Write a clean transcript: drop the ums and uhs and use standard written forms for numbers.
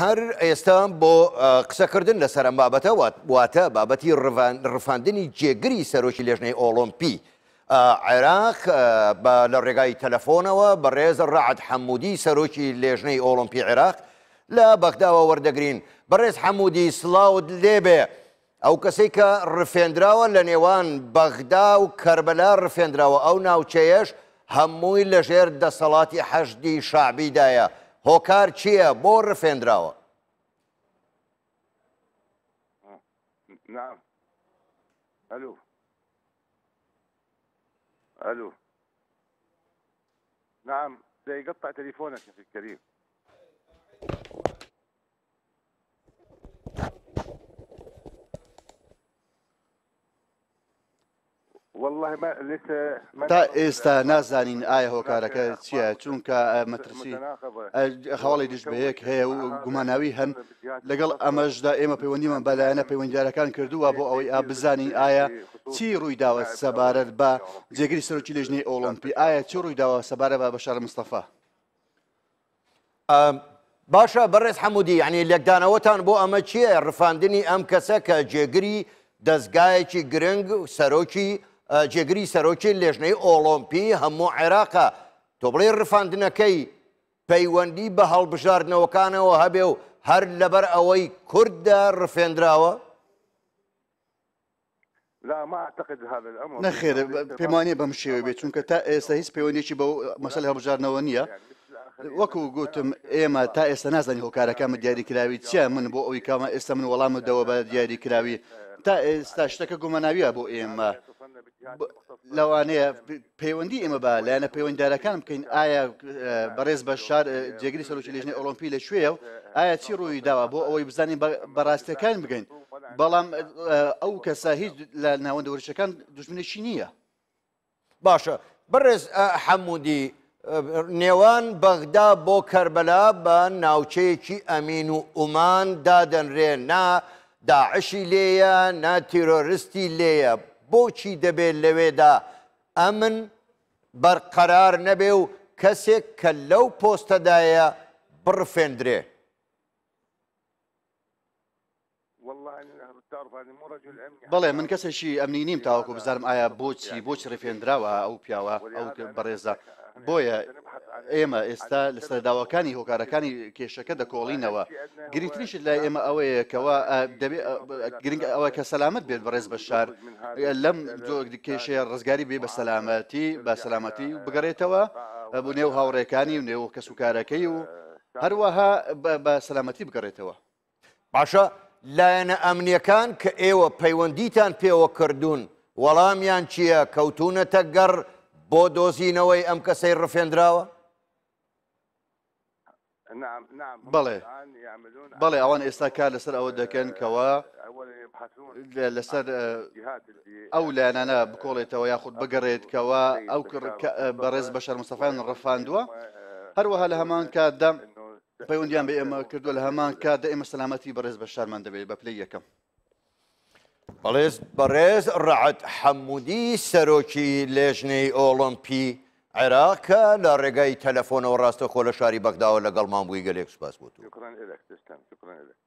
هەر ئێستا بۆ قسەکردن لەسەر ئەم بابەتە واتە بابەتی ڕفاندنی جێگری سەرۆکی لێژنەی ئۆڵۆمپی عێراق بە لە ڕێگای تەلەفۆنەوە بەڕێز ڕەعد حەمودی سەرۆکی لێژنەی ئۆڵۆمپی عێراق لە بەغداوە وەردەگرین. بەڕێز حەمودی سڵاوت لێبێ. ئەو کەسەی کە ڕفێندراوە لە نێوان بەغدا و کەربەلا ڕفێندراوە، ئەو ناوچەیەش هەمووی لەژێر دەسەڵاتی حەشدی شەعبیدایە، هۆکار چییە بۆ ڕفێندراوە؟ نعم الو الو نعم يقطع تليفونك يا اخي الكريم. تا ئێستا نازانین ئایا هۆکارەکە چییە چونکە مەترسی هەواڵی دژ بەیەک هەیە و گوماناوی هەن لەگەڵ ئەمەشدا ئێمە پەیوەندیمان بە لایەنە پەیوەندیدارەکان کردووە بۆ ئەوەی ئا بزانین ئایا چی ڕوویداوە سەبارەت بە جێگری سەرۆکی لێژنەی ئۆڵۆمپی ئایا چی ڕوویداوە سەبارەت بە بەشار مستەفا؟ باشە بەڕێز حەمودی یعنی لێکدانەوەتان بۆ ئەمە چییە ڕفاندنی ئەم کەسە کە جێگری دەستگایەکی گرنگ سەرۆکی جێگری سەرۆکی لێژنەی ئۆڵۆمپی هەموو عێراقە تۆ بڵێ ڕفاندنەکەی پەیوەندی بە هەڵبژاردنەوەکانەوە هەبێ و هەر لەبەر ئەوەی کوردە ڕفێندراوە؟ نەخێر پێم وانییە بەم شێوەیە بێت چونکە تا ئێستا هیچ پەیوەندیی بەو مەسەلەی هەڵبژاردنەوە نییە وەکو گوتم ئێمە تا ئێستا نازانین هۆکارەکان بە دیاریکراوی چییە من بۆ ئەوی کامە ئێستا من وەڵامت دەوە بە دیاریکراوی تا ئێستا شتەکە گوماناویە بۆ ئێمە لەوانەیە پەیوەندی ئێمە بە لایەنە پەیوەنددارەکان بکەین ئایا بەڕێز بەشار جێگری سەرۆکی لێژنەی ئۆڵۆمپی لە کوێیە و ئایا چی ڕووی داوە بۆ ئەوەی بزانین بە ڕاستیەکان بگەین بەڵام ئەو کەسە هیچ لە ناوەندە وەرزشەکان دوژمنێکی نییە. باشە بەڕێز حەمودی نێوان بەغدا بۆ کەربەلا بە ناوچەیەکی ئەمین و ئومان دادەنرێ نا داعشی لێیە نا تیرۆرستی لێیە بۆچی دەبێ لەوێدا ئەمن بەرقەرار نەبێ و کەسێک کە لەو پۆستەدایە بڕفێندرێ؟ بەڵێ من کەسێکی ئەمنی نیم تاوەکو بزانم ئایا بۆچی بۆچی ڕفێندراوە ئەو پیاوە ئەو بەڕێزە بۆیە ئێمە ئێستا لەسەر داواکانی هۆکارەکانی کێشەکە دەکۆڵینەوە گرنگترین شت لای ئێمە ئەوەیە کەوا دەبێ گرنگ ئەوە کە سەلامەت بێت بەڕێز بەشار لەم کێشەیە ڕزگاری بێ بە سەلامەتی بە سەلامەتی بگەڕێتەوە بۆ نێو هاوڕێکانی و نێو کەسوکارەکەی و هەروەها بە سەلامەتی بگەڕێتەوە. باشە لایەنە ئەمنیەکان کە ئێوە پەیوەندیتان پێوە کردوون وەڵامیان چییە؟ کەوتوونەتە گەڕ بۆ دۆزینەوەی ئەم کەسەی ڕفێندراوە؟ بەڵێ بەڵێ ئەوان ئێستا کار لەسەر ئەوە دەکەن کەوا لەسەر ئەو لایەنانە بکۆڵێتەوە یاخود بگەڕێت کەوا ئەو بەڕێز بەشار مستەفایان ڕفاندووە هەروەها لە هەمان کاتدا پەیوەندیان بە ئێمە کردووە لە هەمان کاتدا ئێمە سەلامەتی بەڕێز بەشارمان دەبێت بە پلەی یەکەم. بەڵێز بەڕێز ڕەعد حەمودی سەرۆکی لێژنەی ئۆڵۆمپی عێراق کە لە ڕێگای تەلەفۆنەوە ڕاستەخۆ لە شاری بەغداوە لەگەڵمان بووی گەلێک سوپاس بۆ تۆ. شكرا لك تسلم شكرا لك.